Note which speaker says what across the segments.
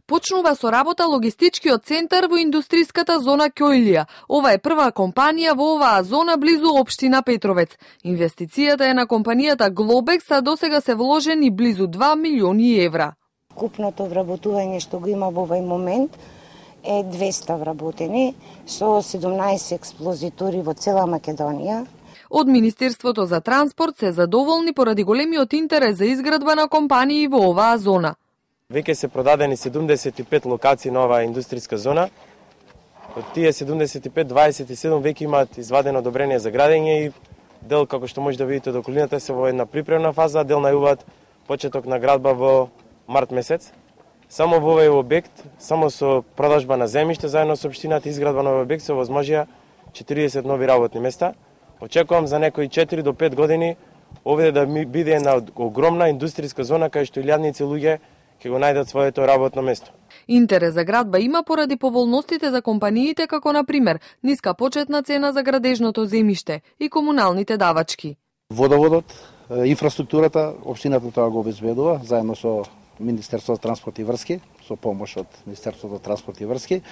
Speaker 1: Почнува со работа логистичкиот центар во индустријската зона Ќојлија. Ова е прва компанија во оваа зона близу општина Петровец. Инвестицијата е на компанијата Глобекс, а досега се вложени близу 2 милиони евра.
Speaker 2: Купното вработување што го има во овој момент е 200 вработени со 17 експлозитори во цела Македонија.
Speaker 1: Од Министерството за транспорт се задоволни поради големиот интерес за изградба на компании во оваа зона.
Speaker 3: Веќе се продадени 75 локации на оваа индустријска зона. Од тие 75, 27 веќе имаат извадено одобрение за градење и дел, како што може да видите од околината, се во една припремна фаза, дел најуваат почеток на градба во март месец. Само во овој објект, само со продажба на земјиште заедно со општината и изградба на овој објект се овозможија 40 нови работни места. Очекувам за некои 4 до 5 години овде да биде една огромна индустријска зона кај што илјадници луѓе ќе го најдат своето работно место.
Speaker 1: Интерес за градба има поради поволностите за компаниите, како на пример ниска почетна цена за градежното земјиште и комуналните давачки.
Speaker 4: Водоводот, инфраструктурата, општината тоа го обезбедува заедно со Министерството за транспорт и врски, со помош од Министерството за транспорт и врски.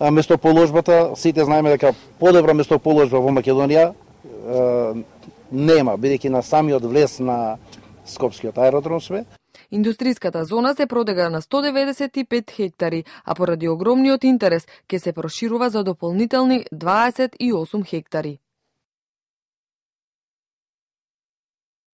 Speaker 4: Местоположбата, сите знаеме дека подобра местоположба во Македонија нема, бидејќи на самиот влез на Скопскиот аеродром сме.
Speaker 1: Индустријската зона се продега на 195 хектари, а поради огромниот интерес ќе се проширува за дополнителни 28 хектари.